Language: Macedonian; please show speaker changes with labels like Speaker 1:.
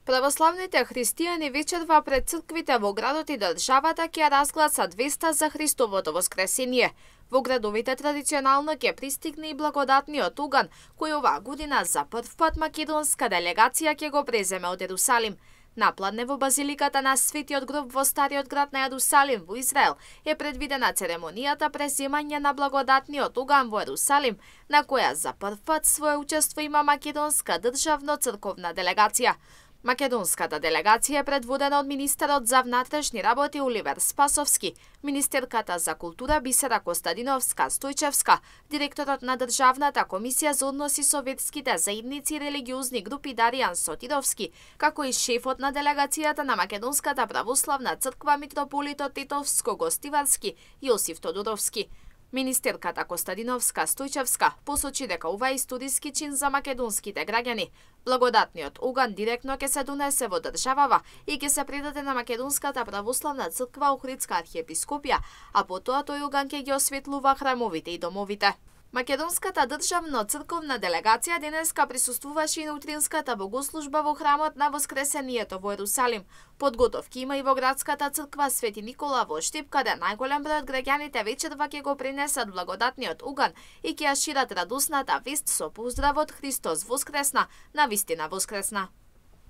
Speaker 1: Православните христијани вечерва пред црквите во градот и државата ќе разгласат веста за Христовото воскресение. Во градовите традиционално ќе пристигне и благодатниот уган, кој оваа година за прв пат македонска делегација ќе го преземе од Ерусалим. Напладне во базиликата на Светиот гроб во стариот град на Ерусалим во Израел е предвидена церемонијата преземање на благодатниот уган во Ерусалим, на која за прв пат свое учество има македонска државно-црковна делегација. Македонската делегација е предводена од министерот за внатрешни работи Оливер Спасовски, министерката за култура Бисера Костадиновска Стојчевска, директорот на Државната комисија за односи со верските заедници и религиозни групи Даријан Сотировски, како и шефот на делегацијата на Македонската православна црква митрополитот Тетовско-Гостиварски Јосиф Тодоровски. Министерката Костадиновска Стојчевска посочи дека ова е историски чин за македонските граѓани. Благодатниот уган директно ќе се донесе во државава и ќе се предаде на Македонската православна црква Охридска архиепископија, а потоа тој уган ќе ги осветлува храмовите и домовите. Македонската државно-црковна делегација денеска присуствуваше и на утринската богослужба во храмот на Воскресението во Ерусалим. Подготовки има и во градската црква Свети Никола во Штип, каде најголем број од граѓаните вечерва ќе го пренесат благодатниот уган и ќе ја шират радосната вест со поздравот Христос воскресна, навистина воскресна.